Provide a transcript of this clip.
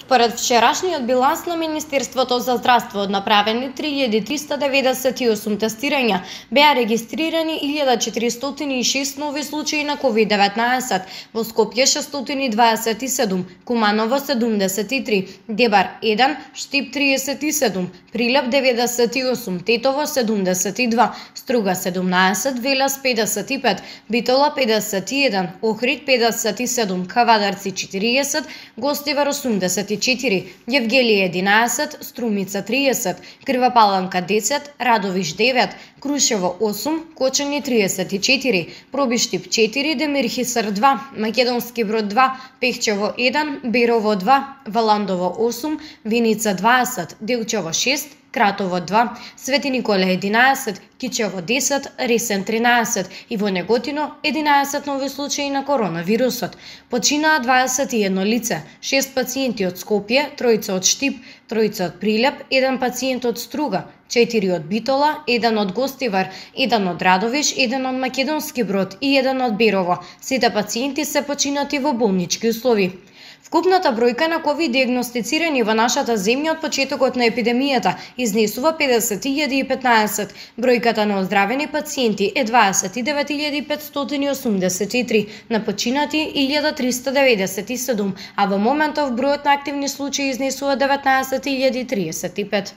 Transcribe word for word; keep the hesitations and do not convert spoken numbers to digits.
Според вчерашниот биланс на Министерството за здравство, направени три илјади триста деветдесет и осум тестирања, беа регистрирани илјада четиристотини и шест нови случаи на ковид деветнаесет, во Скопје шестстотини дваесет и седум, Куманово седумдесет и три, Дебар еден, Штип триесет и седум, Прилеп деветдесет и осум, Тетово седумдесет и два, Струга седумнаесет, Велес педесет и пет, Битола педесет и еден, Охрид педесет и седум, Кавадарци четириесет, Гостивар осумдесет и четири, Јевгелие единаесет, Струмица триесет, Крива Паланка десет, Радовиш девет, Крушево осум, Кочани триесет и четири, Пробиштип четири, Демирхисар два, Македонски Брод два, Пехчево еден, Берово два, Валандово осум, Виница дваесет, Делчево шест, Кратово два, Свети Никола единаесет, Кичево десет, Ресен тринаесет и во Неготино единаесет нови случаи на коронавирусот. Починаа дваесет и едно лице, шест пациенти од Скопје, тројца од Штип, тројца од Прилеп, еден пациент од Струга, четири од Битола, еден од Гостивар, еден од Радовиш, еден од Македонски Брод и еден од Берово. Сите пациенти се починати во болнички услови. Вкупната бројка на ковид диагностицирани во нашата земја од почетокот на епидемијата изнесува педесет илјади и петнаесет. Бројката на оздравени пациенти е дваесет и девет илјади петстотини и осумдесет и три, на починати илјада триста деветдесет и седум, а во моментов бројот на активни случаи изнесува деветнаесет илјади триесет и пет.